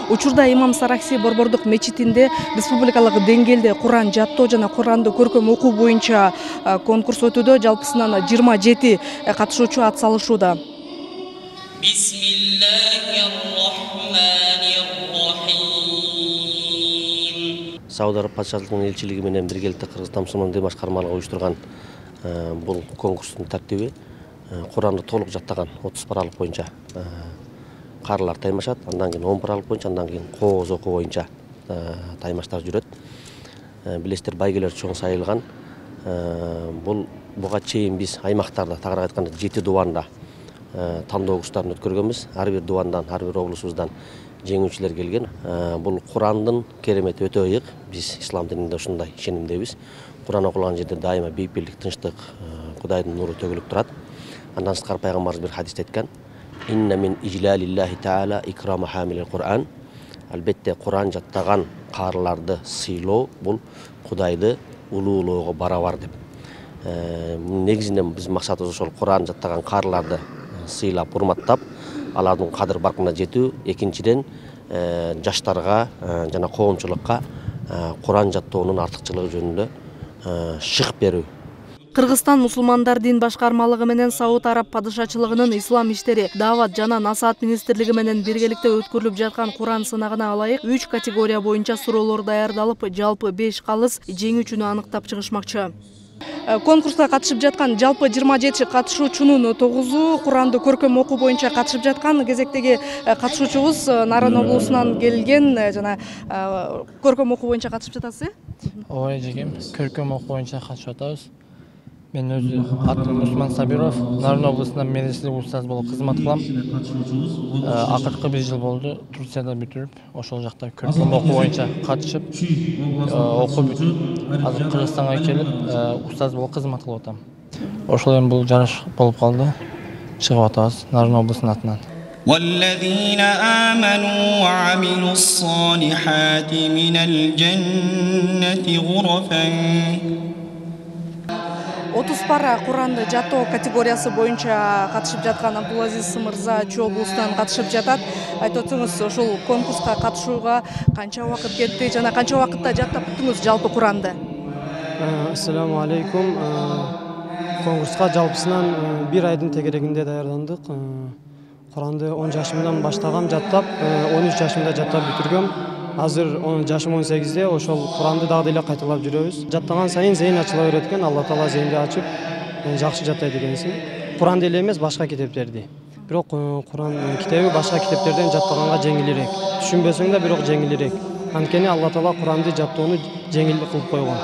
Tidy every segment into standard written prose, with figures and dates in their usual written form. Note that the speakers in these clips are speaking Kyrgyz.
Учурда Имам Саракси Борбордук мечитинде республикалык деңгээлде Куран жаттоо жана Куранды көркөм окуу боюнча конкурс өтүүдө. Жалпысынан 27 катышуучу ат салышууда. Сауд Араб патшалыгынын элчилиги менен биргеликте Кыргызстан мусулман дин башкармалыгы уюштурган бул конкурстун тартиби Куранды толук жаттаган 30 паралык боюнча карылар таймашат, андан кийин 10 паралык боюнча, андан кийин кооз окуу боюнча таймаштар жүрөт. Билесиздер, байгелер чоң сайылган. Буга чейин биз аймактарда, тагыраак айтканда 7 дубанда тандоо курстарын өткөргөнбүз. Ар бир дубандан, ар бир облусубуздан жеңүүчүлөр келген. Бул Курандын керемети өтө ыйык. Биз ислам дининде ушундай ишенимдебиз. Куран окулган жерде дайыма бейпилдик, тынчтык, Кудайдын нуру төгүлүп турат. Андан сырткары пайгамбарыбыз бир хадисте айткан: «Инна мин ижлалиллахи таала икрама хамилил Кур'ан». Албетте Куран жаттаган каарыларды сыйлоо бул Кудайды улуулоого барабар деп. Негизинен биз максатыбыз ошол Куран жаттаган каарыларды сыйлап, урматтап, алардын кадыр баркына жетүү. Экинчиден, жаштарга жана коомчулукка Куран жаттоонун артыкчылыгы жөнүндө шык берүү. Кыргызстан мусулмандар дин башкармалыгы менен Сауд Араб падышачылыгынын ислам иштери, дават жана насаат министрлиги менен биргеликте өткөрүлүп жаткан Куран сынагына ылайык 3 категория боюнча суроолор даярдалып, жалпы 5 калыс жеңүүчүнү аныктап чыгышмакчы. Конкурска катышып жаткан жалпы 27 катышуучунун 9-у Куранды көркөм окуу боюнча катышып жаткан. Кезектеги катышуучубуз Нарын облусунан келген жана көркөм окуу боюнча катышып жатасыз. Ооба эжекем, көркөм окуу боюнча катышып атабыз. Мен өзү атым Усман Сабиров, Нарын облусунда медресе устаз болуп кызмат кылам. Акыркы 1 жыл болду Турцияда бүтүрүп, ошол жакта көркөм окуу боюнча катышып, окуп азыр Кыргызстанга келип устаз болуп кызмат кылып атам. Ошол эми бул жарыш болуп калды. Чыгып атабыз Нарын облусунун атынан. والذين آمنوا وعملوا الصالحات من الجنة غرفا 30 пара Куранды жаттоо категориясы боюнча катышып жаткан Абдулазиз мырза Чүй облусунан катышып жатат. Айтып өтсөңүз, ушул конкурска катышууга канча убакыт кетти жана канча убакытта жаттап бүттүңүз жалпы Куранды? Ассаламу алейкум. Конкурска жалпысынан 1 айдын тегерегинде даярдандык. Куранды 10 жашымдан баштагам жаттап, 13 жашымда жаттап бүтүргөм. Азыр жашым 18-де, ошол Куранды дагы эле кайталап жүрөбүз. Жаттаган сайын зейин ачыла берет экен, Алла Таала зейинди ачып, жакшы жаттайт экенсиң. Куранды эле эмес, башка китептерди. Бирок Куран китеби башка китептерден жаттаганга жеңилирээк. Түшүнбөсөң да бирок жеңилирээк. Анткени Алла Таала Куранды жаттоону жеңил кылып койгон.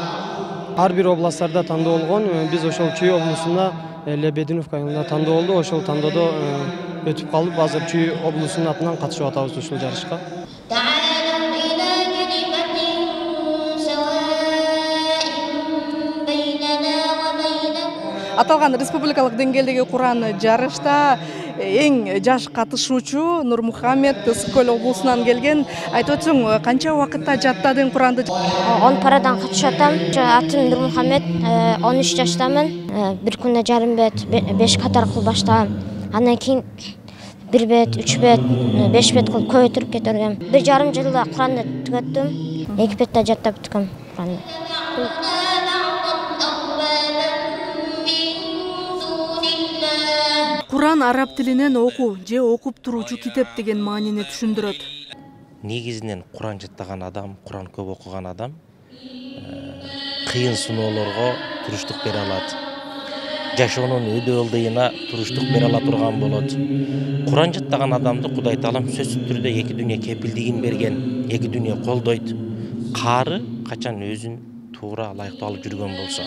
Ар бир областтарда тандоо болгон. Биз ошол Чүй облусунда Лебединовка айылында тандоо болду. Ошол тандоодо өтүп калып, азыр Чүй облусунун атынан катышып атабыз ушул жарышка. Аталган республикалык деңгээлдеги Куран жарышта эң жаш катышуучу Нурмухамед Ысык-Көл облусунан келген. Айтып өтсөң, канча убакытта жаттадың Куранды? 10 парадан катышып атам. Атым Нурмухамед, 13 жаштамын. Бир күндө жарым бет, 5 катар кылып баштагам. Андан кийин 1 бет, 3 бет, 5 бет кылып көбөйтүрүп кетиргем. 1,5 жылда Куранды түгөттүм. 2 бетте жаттап бүткөм Куранды. Куран араб тилинен окуу же окуп туруучу китеп деген маанини түшүндүрөт. Негизинен Куран жаттаган адам, Куран көп окуган адам кыйын сыноолорго туруштук бере алат. Жашоонун өйдө ылдыйына туруштук бере ала турган болот. Куран жаттаган адамды Кудай Таалам сөзсүз түрдө эки дүйнө кепилдигин берген, эки дүйнө колдойт. Каары качан өзүн туура ылайыктуу алып жүргөн болсо.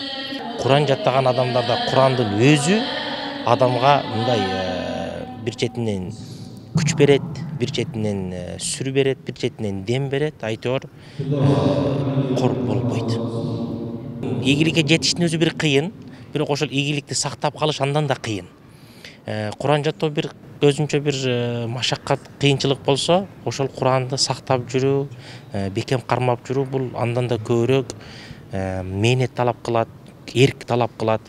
Куран жаттаган адамдарда Курандын өзү адамга мындай бир четинен күч берет, бир четинен сүр берет, бир четинен дем берет, айтор кор болбойт. Ийгиликке жетиштин өзү бир кыйын, бирок ошол ийгиликти сактап калыш андан да кыйын. Куран жаттоо бир өзүнчө бир машаккат, кыйынчылык болсо, ошол Куранды сактап жүрүү, бекем кармап жүрүү бул андан да көбүрөөк мээнет талап кылат, эрк талап кылат.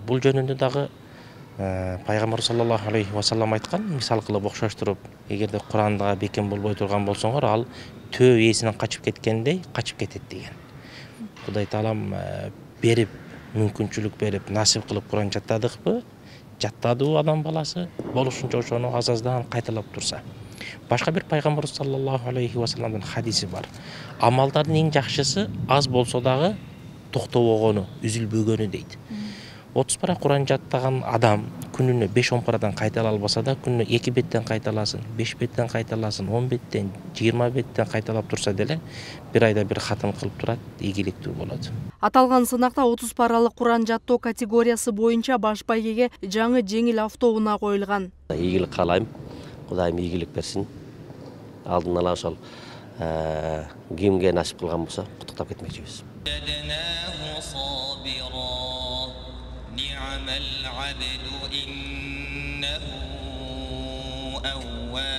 Бул жөнүндө дагы пайгамбар саллаллаху алейхи вассалам айткан, мисал кылып окшоштуруп, эгерде Куранда бекем болбой турган болсоңор, ал төө ээсинен качып кеткендей качып кетет деген. Кудай таалам берип, мүмкүнчүлүк берип, насип кылып Куран жаттадыкпы? Жаттадыбы адам баласы? Болушунча ошону аз-аздан кайталап турса. Башка бир пайгамбар саллаллаху алейхи вассаламдын хадиси бар. Амалдардын эң жакшысы аз болсо дагы токтобогону, үзүлбөгөнү дейт. 30 пара Куран жаттаган адам күнүнө 5-10 парадан кайтала албаса да, күнүнө 2 беттен кайталасын, 5 беттен кайталасын, 10 беттен, 20 беттен кайталап турса деле, бир айда бир хатым кылып турат, ийгиликтүү болот. Аталган сынакта 30 паралык Куран жаттоо категориясы боюнча баш байгеге жаңы жеңил автоунаа коюлган. Ийгилик каалайм. Кудайым ийгилик берсин. Алдын ала ошол кимге насип кылган болсо куттуктап кетмекчибиз. العبد إنه أواب